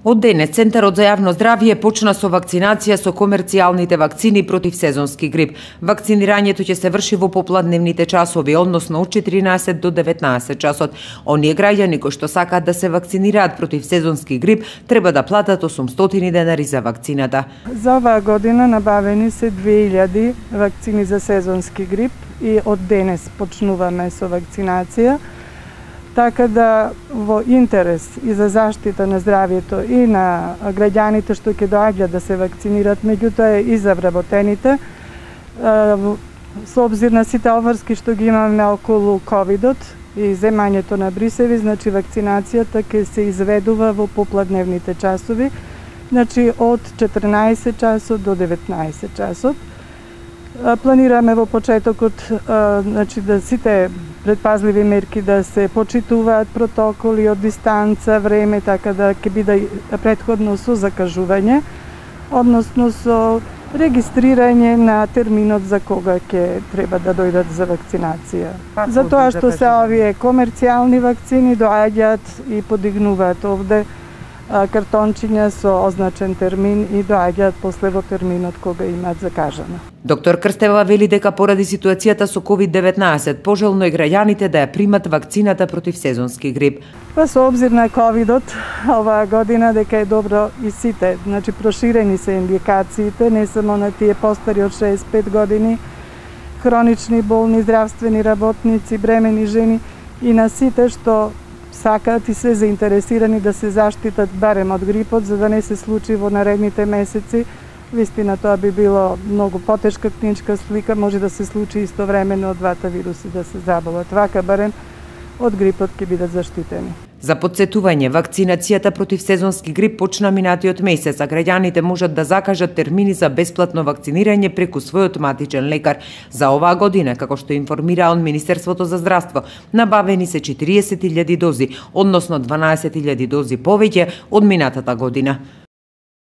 Од денес Центарот за јавно здравје почна со вакцинација со комерцијалните вакцини против сезонски грип. Вакцинирањето ќе се врши во попладневните часови, односно од 14 до 19 часот. Оние граѓани кои што сакаат да се вакцинираат против сезонски грип треба да платат 800 денари за вакцината. За оваа година набавени се 2000 вакцини за сезонски грип и од денес почнуваме со вакцинација. Така да во интерес и за заштита на здравјето и на граѓаните што ќе доаѓаат да се вакцинираат, меѓутоа и за вработените, со обзир на сите обврски што ги имаме околу ковидот и земањето на брисеви, значи вакцинацијата ќе се изведува во попладневните часови, значи од 14 часот до 19 часот. Планираме во почетокот значи да сите предпазливи мерки да се почитуваат, протоколи од дистанца, време, така да ќе биде претходно со закажување, односно со регистрирање на терминот за кога ќе треба да дојдат за вакцинација. Затоа што се овие комерцијални вакцини доаѓаат и подигнуваат овде картончиња со означен термин и доаѓаат после во терминот кога имаат закажано. Доктор Крстева вели дека поради ситуацијата со COVID-19 пожелно е граѓаните да ја примат вакцината против сезонски грип. Со обзир на ковидот оваа година дека е добро и сите, значи проширени се индикациите, не само на тие постари од 65 години, хронични болни, здравствени работници, бремени жени и на сите што сакаат и се заинтересирани да се заштитат барем од грипот, за да не се случи во наредните месеци. Вистина тоа би било многу потешка клиничка слика, може да се случи истовремено од двата вируси да се заболат. Вака барем од грипот ќе бидат заштитени. За подсетување, вакцинацијата против сезонски грип почна минатиот месец, а граѓаните можат да закажат термини за бесплатно вакцинирање преку својот матичен лекар. За оваа година, како што информира од Министерството за здравство, набавени се 40.000 дози, односно 12.000 дози повеќе од минатата година.